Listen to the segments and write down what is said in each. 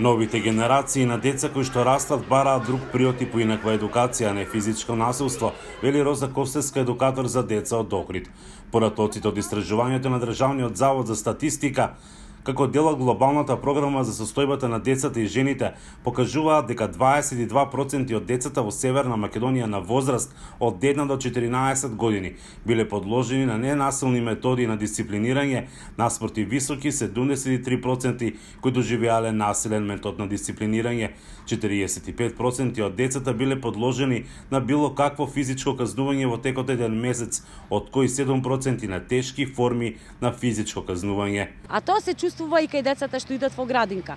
Новите генерации на деца кои што растат бараат друг приот и поинаква едукација, а не физичко насилство, вели Роза Костевска, едукатор за деца од Охрид. Поратоците од истражувањето на Државниот завод за статистика, како дел од глобалната програма за состојбата на децата и жените, покажуваат дека 22% од децата во Северна Македонија на возраст од 1 до 14 години биле подложени на ненасилни методи на дисциплинирање, наспроти високи 73% кои доживеале насилен метод на дисциплинирање. 45% од децата биле подложени на било какво физичко казнување во текот еден месец, од кои 7% на тешки форми на физичко казнување. А тоа се чувствува и кај децата што идат во градинка.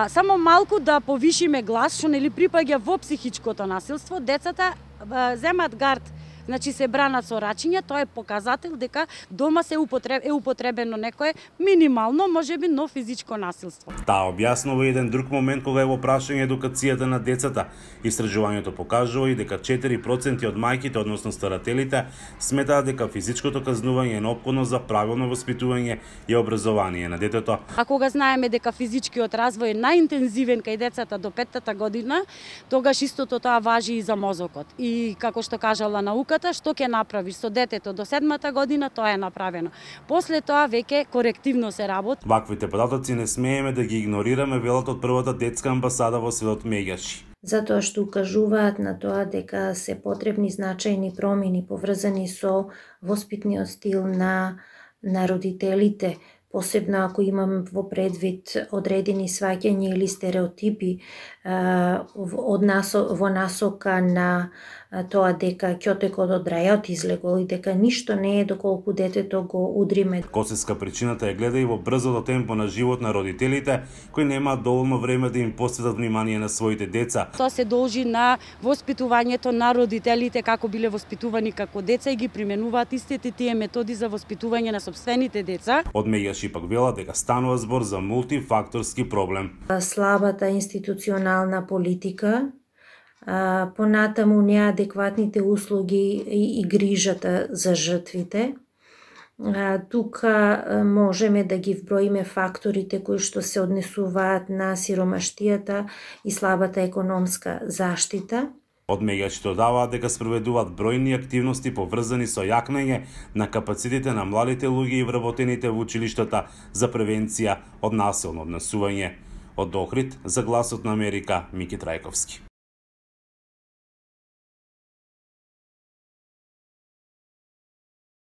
Само малку да повишиме глас, што нели припаѓа во психичкото насилство, децата земат гард, значи се бранат со рачиња, тоа е показател дека дома се употребено некое минимално, можеби, но физичко насилство. Таа објаснува еден друг момент кога е во прашање едукацијата на децата. Истражувањето покажува и дека 4% од мајките, односно старателите, сметаат дека физичкото казнување е неопходно за правилно воспитување и образование на детето. А кога знаеме дека физичкиот развој е најинтензивен кај децата до 5-та година, тогаш истото тоа важи и за мозокот. И како што кажала наука, што ќе направиш со детето до 7-та година, тоа е направено. После тоа веќе корективно се работи. Ваквите податоци не смееме да ги игнорираме, велат од првата детска амбасада во селот Меѓаши. Затоа што укажуваат на тоа дека се потребни значајни промени поврзани со воспитниот стил на родителите, посебно ако имам во предвид одредени сваќања или стереотипи во насока на тоа дека ќотекот од рајот излегол и дека ништо не е доколку детето го удриме. Косевска причината е гледа и во брзото темпо на живот на родителите, кои немаат доволно време да им посветат внимание на своите деца. Тоа се должи на воспитувањето на родителите, како биле воспитувани како деца и ги применуваат истите тие методи за воспитување на сопствените деца. Од Меѓаши пак велат дека станува збор за мултифакторски проблем. Слабата институционална политика, понатаму неадекватните услуги и грижата за жртвите. Тука можеме да ги вброиме факторите кои што се однесуваат на сиромаштијата и слабата економска заштита. Од Меѓаши додаваат дека спроведуваат бројни активности поврзани со јакнење на капацитетите на младите луѓе и вработените во училиштата за превенција од насилно однесување. Од Охрид, за Гласот на Америка, Мики Трајковски.